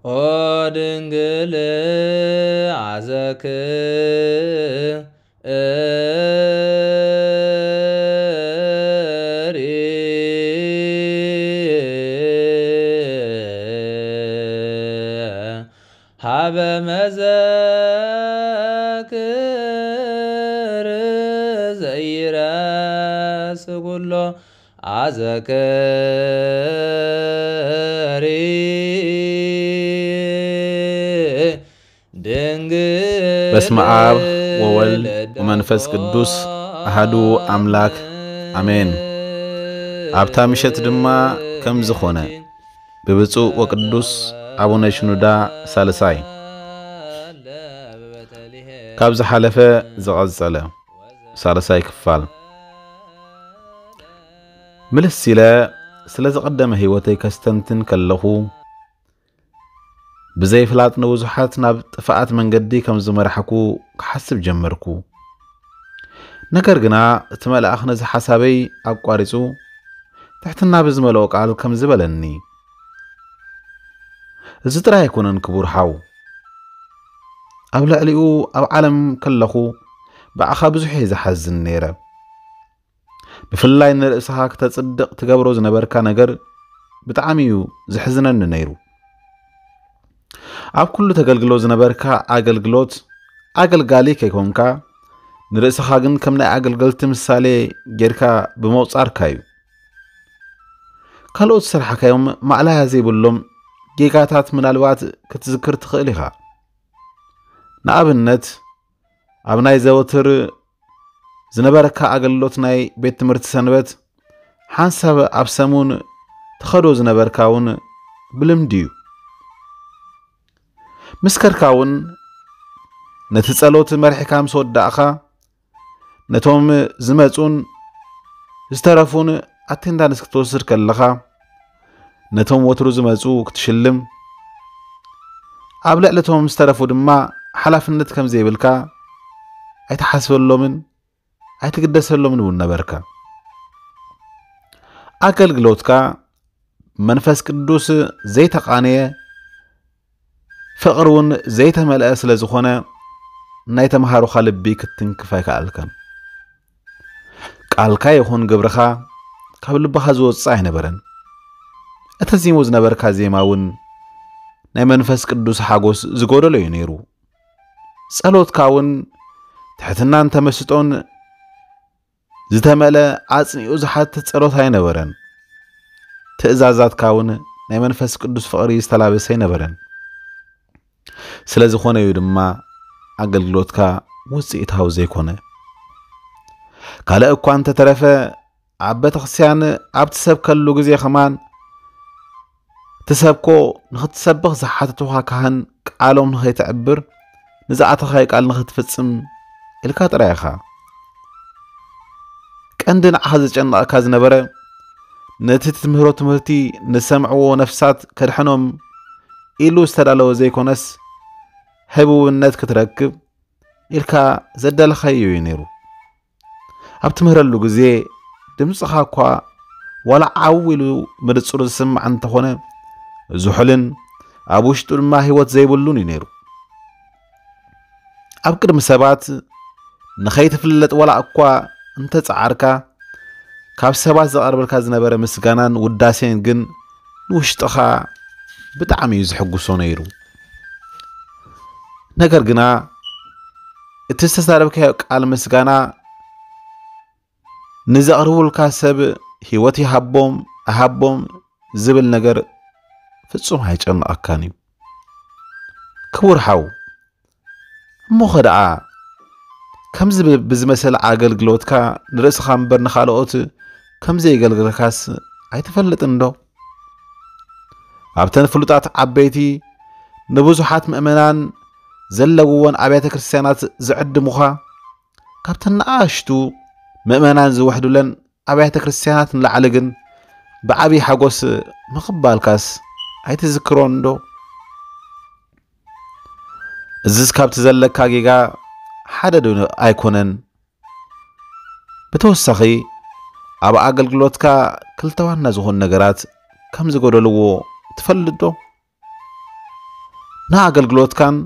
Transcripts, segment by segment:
ኦ ድንግል ኣዘክሪ ሀበ መዘክር ዘይረስ ኩሎ ኣዘክሪ ድንግል በስመ አብ ወወልድ ወመንፈስ ቅዱስ አሐዱ አምላክ አሜን። ኣብታ ምሸት ድማ ከም ዝኾነ ብብፁዕ ወቅዱስ ኣቡነ ሽኑዳ ሳልሳይ ካብ ዝሓለፈ ዝቐጸለ ሳልሳይ ክፋል ምልስ ኢለ ስለ ዝቐደመ ህይወተይ ከስተንትን ከለኹ ብዘይፍላጥ ንብዙሓት ናብ ጥፍኣት መንገዲ ከም ዝመራሕኩ ክሓስብ ጀመርኩ። ነገር ግና እቲ መልኣኽ ነዚ ሓሳበይ ኣቋሪጹ ትሕትና ብዝመልኦ ቃል ከም ዝበለኒ፣ እዚ ጥራይ ኣይኮነን ክቡር ሓው፣ ኣብ ልዕሊኡ ኣብ ዓለም ከለኹ ብኣኻ ብዙሕ እየ ዝሓዝን ነይረ። ብፍላይ ንርእስኻ ክተጽድቕ ትገብሮ ዝነበርካ ነገር ብጣዕሚ እዩ ዝሕዝነኒ ነይሩ። ኣብ ኩሉ ተገልግሎ ዝነበርካ ኣገልግሎት ኣገልጋሊ ከይኮንካ ንርእስኻ ግን ከም ናይ ኣገልገልቲ ምሳሌ ጌርካ ብምቑጻርካ እዩ። ካልኦት ዝሰርሓካዮም ማእለያ ዘይብሎም ጌጋታት ምናልባት ክትዝክር ትኽእል ኢኻ። ንኣብነት ኣብ ናይ ዘወትር ዝነበረካ ኣገልግሎት ናይ ቤት ትምህርቲ ሰንበት ሓንሳብ ኣብ ሰሙን ትኸዶ ዝነበርካ እውን ብልምዲ እዩ። ምስ ከድካ እውን ነቲ ጸሎት መሪሕካ ምስ ወዳእኻ ነቶም ዝመጹን ዝተረፉን ኣቴንዳንስ ክትወስድ ከለኻ ነቶም ወትሩ ዝመጹ ክትሽልም ኣብ ልዕሊ እቶም ዝተረፉ ድማ ሓላፍነት ከም ዘይብልካ ኣይትሓስበሎምን ኣይትግደሰሎምን እውን ነበርካ። ኣገልግሎትካ መንፈስ ቅዱስ ዘይተቓነየ ፍቕሪ እውን ዘይተመልአ ስለ ዝኾነ ናይ ተምሃሮኻ ልቢ ክትትንክፍ ኣይከኣልካን። ቃልካ ይኹን ግብርኻ ካብ ልብኻ ዝወጽእ ኣይነበረን። እተዚሙ ዝነበርካ ዜማ እውን ናይ መንፈስ ቅዱስ ሓጎስ ዝጎደሎ እዩ ነይሩ። ጸሎትካ እውን ትሕትናን ተመስጦን ዝተመልአ ኣጽኒኡ ዝሓትት ጸሎት ኣይነበረን። ትእዛዛትካ እውን ናይ መንፈስ ቅዱስ ፍቕሪ ዝተላበሰ ኣይነበረን። ስለ ዝኾነ እዩ ድማ ኣገልግሎትካ ውጽኢታዊ ዘይኮነ። ካልእ እኳ እንተተረፈ ኣብ ቤተክርስትያን ኣብ ትሰብከሉ ግዜ ከማን ትሰብኮ ንኽትሰብኽ ዝሓተቱኻ ካህን ቃሎም ንኸይተዕብር ንዝኣተኻዮ ቃል ንኽትፍጽም ኢልካ ጥራይ ኢኻ። ቀንዲ ንዓኻ ዘጨንቐካ ዝነበረ ነቲ ትምህሮ ትምህርቲ ንሰምዕዎ ነፍሳት ከድሕኖም ኢሉ ዝተዳለወ ዘይኮነስ ህቡብነት ክትረክብ ኢልካ ዘዳለኻዮ እዩ ነይሩ። ኣብ ትምህረሉ ግዜ ድምፅኻ እኳ ዋላ ዓው ኢሉ ምንፅሩ ዝስማዕ እንተኾነ ዝሑልን ኣብ ውሽጡ ድማ ህይወት ዘይብሉን እዩ ነይሩ። ኣብ ቅድሚ ሰባት ንኸይትፍለጥ ዋላ እኳ እንተፀዓርካ ካብ ሰባት ዝቐርበልካ ዝነበረ ምስጋናን ውዳሴን ግን ንውሽጥኻ ብጣዕሚ እዩ ዝሕጉሶ ነይሩ። ነገር ግና እቲ ዝተዛረብካዮ ቃል ምስጋና ንዘቕርቡልካ ሰብ ህይወት ይሃቦም ኣይሃቦም ዝብል ነገር ፍጹም ኣይጨንቐካን እዩ። ክቡር ሓው፣ እሞኸ ደኣ ከምዚ ብዝመሰለ ኣገልግሎትካ ንርእስኻ እምበር ንኻልኦት ከም ዘየገልገልካስ ኣይትፈልጥን ዶ? ኣብተን ፍሉጣት ዓበይቲ ንብዙሓት ምእመናን ዘለውወን ኣብያተ ክርስትያናት ዝዕድሙኻ ካብተን ንኣሽቱ ምእመናን ዝውሕዱለን ኣብያተ ክርስትያናት ንላዕሊ ግን ብዓብዪ ሓጎስ ምቕባልካስ ኣይትዝክሮን ዶ? እዝስ ካብቲ ዘለካ ጌጋ ሓደ ዶ ኣይኮነን? ብተወሳኺ ኣብ ኣገልግሎትካ ክልተ ዋና ዝኾኑ ነገራት ከም ዝጎደልዎ ትፈልጥ ዶ? ንኣገልግሎትካን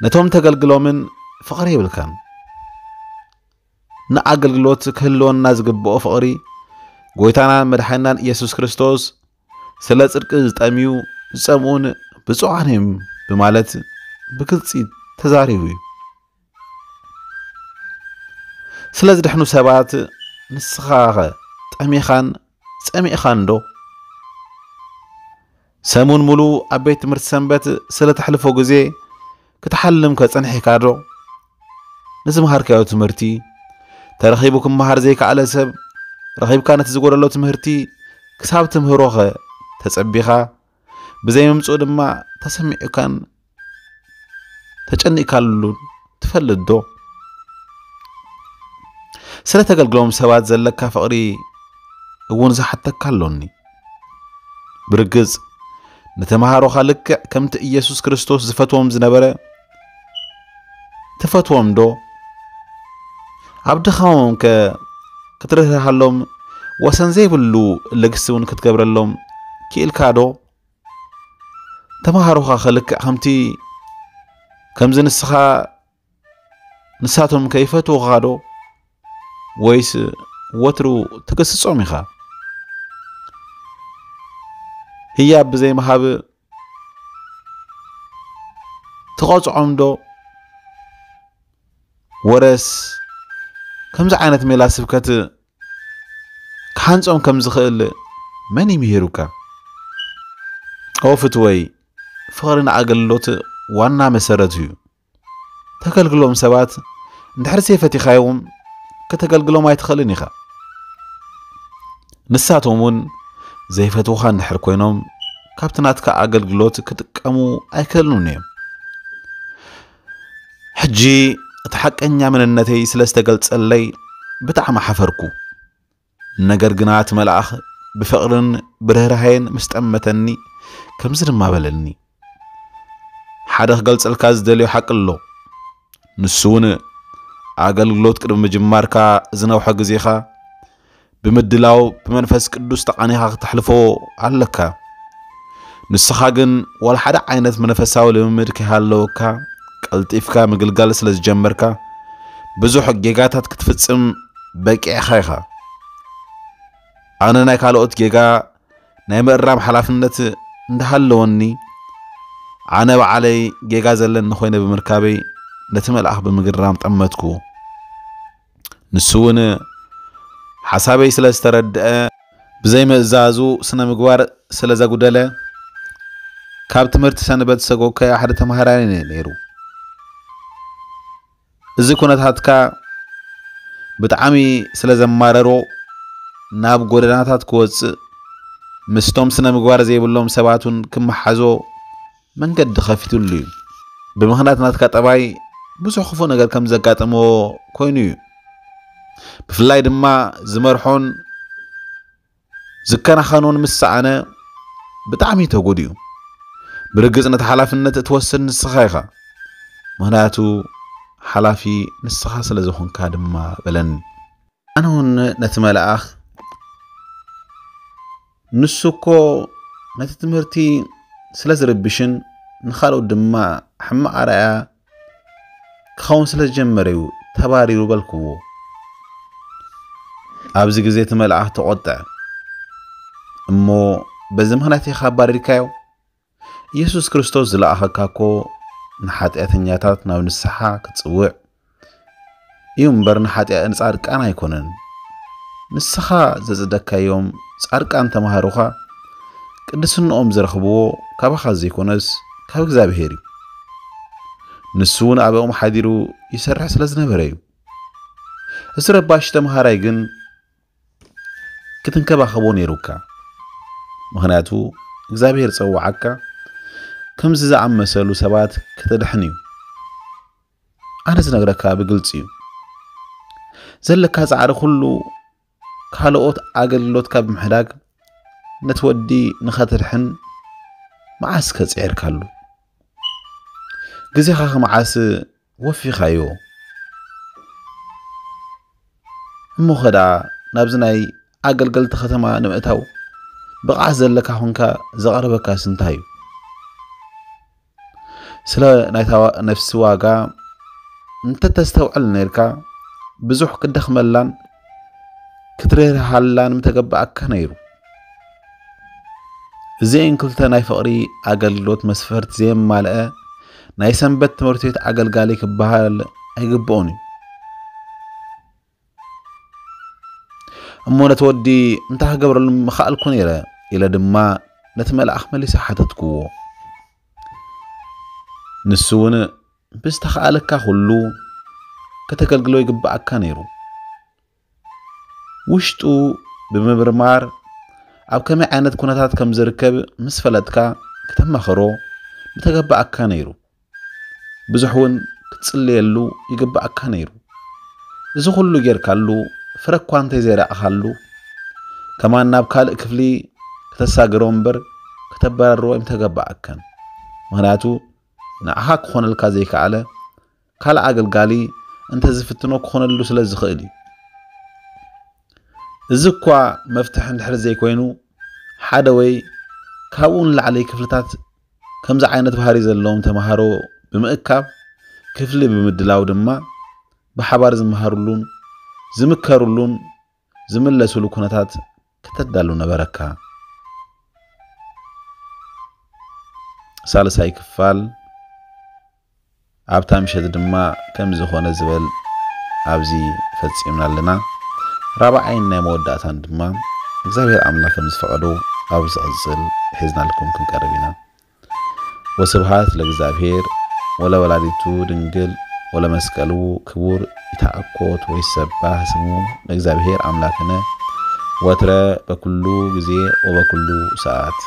ነቶም ተገልግሎምን ፍቕሪ የብልካን። ንኣገልግሎት ክህልወና ዝግብኦ ፍቕሪ ጎይታናን መድሓኒናን ኢየሱስ ክርስቶስ ስለ ጽድቂ ዝጠምዩ ዝጸምኡን ብፁዓን እዮም ብማለት ብግልጺ ተዛሪቡ እዩ። ስለ ዝድሕኑ ሰባት ንስኻኸ ጠሚኻን ጸሚእኻን ዶ? ሰሙን ሙሉ ኣብ ቤት ትምህርቲ ሰንበት ስለ ተሕልፎ ግዜ ክትሓልም ከጸንሒካ ዶ? ንዝመሃርካዮ ትምህርቲ ተረኺቡ ክመሃር ዘይከኣለ ሰብ ረኺብካ ነቲ ዝጎደሎ ትምህርቲ ክሳብ ትምህሮኸ ተጸቢኻ ብዘይምምጽኡ ድማ ተሰሚዑካን ተጨኒእካሉን ትፈልጥ ዶ? ስለ ተገልግሎም ሰባት ዘለካ ፍቕሪ እውን ዝሓተካ ኣሎኒ። ብርግጽ ንተምሃሮኻ ልክዕ ከምቲ ኢየሱስ ክርስቶስ ዝፈትዎም ዝነበረ ትፈትዎም ዶ? ኣብ ድኻሞም ከ ክትርህርሃሎም ወሰን ዘይብሉ ልግሲ እውን ክትገብረሎም ክኢልካ ዶ? ተምሃሮኻ ከ ልክዕ ከምቲ ከምዚ ንስኻ ንሳቶም ከ ይፈትዉኻ ዶ? ወይስ ወትሩ ትግስጾም ኢኻ? ህያብ ብዘይምሃብ ትቐጽዖም ዶ? ወረስ ከምዚ ዓይነት ሜላ ስብከት ክሓንጾም ከም ዝኽእል መን እዩ ምሂሩካ? ኦ ፍትወይ፣ ፍቕሪ ንኣገልግሎት ዋና መሰረት እዩ። ተገልግሎም ሰባት እንድሕር ዘይፈቲኻዮም ከተገልግሎም ኣይትኽእልን ኢኻ። ንሳቶም እውን ዘይፈትዉኻ እንድሕር ኮይኖም ካብቲ ናትካ ኣገልግሎት ክጥቀሙ ኣይክእሉን እዮም። ሕጂ እቲ ሓቀኛ መንነተይ ስለ ዝተገልጸለይ ብጣዕሚ ሓፈርኩ። ነገር ግና እቲ መልኣኽ ብፍቕርን ብርህራሄን ምስ ጠመተኒ ከምዚ ድማ በለኒ፣ ሓደ ክገልጸልካ ዝደልዮ ሓቂ ኣሎ። ንሱ እውን ኣገልግሎት ቅድሚ ምጅማርካ ዝነውሐ ግዜኻ ብምድላው ብመንፈስ ቅዱስ ተቓኒኻ ክተሕልፎ ኣለካ። ንስኻ ግን ዋላ ሓደ ዓይነት መንፈሳዊ ልምምድ ከይሃለወካ ቀልጢፍካ ምግልጋል ስለ ዝጀመርካ ብዙሕ ጌጋታት ክትፍጽም በቂዕኻ ኢኻ። ኣነ ናይ ካልኦት ጌጋ ናይ ምእራም ሓላፍነት እንዳሃለወኒ ኣነ ባዕለይ ጌጋ ዘለኒ ኮይነ ብምርካበይ ነቲ መልኣኽ ብምግራም ጠመትኩ። ንሱ እውን ሓሳበይ ስለ ዝተረድአ ብዘይ ምእዛዙ ስነ ምግባር ስለ ዘጉደለ ካብ ትምህርቲ ሰንበት ሰጎግካዮ ሓደ ተምሃራይ ነይሩ። እዚ ኩነታትካ ብጣዕሚ ስለ ዘማረሮ ናብ ጎደናታት ክወፅእ ምስቶም ስነ ምግባር ዘይብሎም ሰባት እውን ክመሓዞ መንገዲ ከፊትሉ እዩ። ብምኽንያት ናትካ ጠባይ ብዙሕ ክፉእ ነገር ከም ዘጋጠመዎ ኮይኑ እዩ። ብፍላይ ድማ ዝመርሖን ዝከናኸኖን ምስ ሰኣነ ብጣዕሚ ተጎዲኡ። ብርግጽ ነቲ ሓላፍነት እትወስድ ንስኻ ኢኻ፣ ምኽንያቱ ሓላፊ ንስኻ ስለ ዝኾንካ ድማ በለኒ። ኣነ እውን ነቲ መልኣኽ ንሱ እኮ ነቲ ትምህርቲ ስለ ዝርብሽን ንኻልኦት ድማ ሕማቕ ኣርኣያ ክኸውን ስለ ዝጀመረ እዩ ተባሪሩ በልክዎ። ኣብዚ ግዜ እቲ መልኣኽ ተቖጥዐ እሞ በዚ ምኽንያት ኢኻ ኣባሪርካዮ? ኢየሱስ ክርስቶስ ዝለኣኸካ እኮ ንሓጢኣተኛታት ናብ ንስሓ ክትጽውዕ እዩ እምበር ንሓጢኣ ንጻድቃን ኣይኮነን። ንስኻ ዘጽደካዮም ጻድቃን ተማሃሮኻ ቅድስንኦም ዝረኽብዎ ካባኻ ዘይኮነስ ካብ እግዚኣብሔር እዩ። ንሱ እውን ኣብኦም ሓዲሩ ይሰርሕ ስለ ዝነበረ እዩ። እዚ ረባሽ ተምሃራይ ግን ክትንከባኸቦ ነይሩካ። ምኽንያቱ እግዚኣብሔር ጸዋዓካ ከምዚ ዝኣመሰሉ ሰባት ከተድሕን እዩ። ኣነ ዝነግረካ ብግልጺ እዩ። ዘለካ ጻዕሪ ኩሉ ካልኦት ኣገልግሎትካ ብምሕዳግ ነቲ ወዲ ንኸተድሕን መዓስ ከጽዒርካሉ? ግዜኻ መዓስ ወፊኻዮ? እሞ ኸ ደኣ ናብዚ ናይ ኣገልገልቲ ከተማ ንምእታው ብቕዓት ዘለካ ኹንካ ዘቐረበካስ እንታይ እዩ? ስለ ናይታ ነፍሲ ዋጋ እንተተስተውዕል ነርካ፣ ብዙሕ ክደኽመላን ክትርህርሃላን ምተገባኣካ ነይሩ። እዚኤን ክልተ ናይ ፍቕሪ ኣገልግሎት መስፈርት ዘየማልአ ናይ ሰንበት ትምህርቲ ቤት ኣገልጋሊ ክበሃል ኣይግብኦን እዩ። እሞ ነቲ ወዲ እንታይ ክገብረሉ ምኽኣልኩ ነይረ? ኢለ ድማ ነቲ መልኣኽ መሊሰ ሓተትክዎ። ንሱ እውን ብዝተኻኣለካ ኩሉ ከተገልግሎ ይግብኣካ ነይሩ። ውሽጡ ብምምርማር ኣብ ከመይ ዓይነት ኩነታት ከም ዝርከብ ምስ ፈለጥካ ክተማኸሮ ምተገባኣካ ነይሩ። ብዙሕ እውን ክትጽልየሉ ይግባኣካ ነይሩ። እዚ ኩሉ ጌርካሉ ፍረ እኳ እንተዘይረኣኻሉ ከማን ናብ ካልእ ክፍሊ ከተሳግሮ እምበር ከተበራርዎ ኣይምተገባኣካን። ምኽንያቱ ንዓኻ ክኾነልካ ዘይከኣለ ካልእ ኣገልጋሊ እንተዝፍትኖ ክኾነሉ ስለ ዝኽእል እዩ። እዚ እኳ መፍትሒ እንድሕር ዘይኮይኑ፣ ሓደ ወይ ካብኡ ንላዕሊ ክፍልታት ከምዚ ዓይነት ባህሪ ዘለዎም ተምሃሮ ብምእካብ ክፍሊ ብምድላው ድማ ብሓባር ዝመሃሩሉን ዝምከሩሉን ዝምለሱሉ ኩነታት ከተዳሉ ነበረካ። ሳልሳይ ክፋል ኣብታ ምሸት ድማ ከም ዝኾነ ዝበል ኣብዚ ፈጺምና ኣለና። ራብዓይን ናይ መወዳእታን ድማ እግዚኣብሔር ኣምላኽ ከም ዝፈቐዶ ኣብ ዝቕጽል ሒዝናልኩም ክንቀርብ ኢና። ወስብሃት ለእግዚኣብሔር ወለወላዲቱ ድንግል ወለመስቀሉ ክቡር። ይትዓኮት ወይሰባህ ስሙ ለእግዚኣብሔር ኣምላክነ ወትረ በኩሉ ጊዜ ወበኩሉ ሰዓት።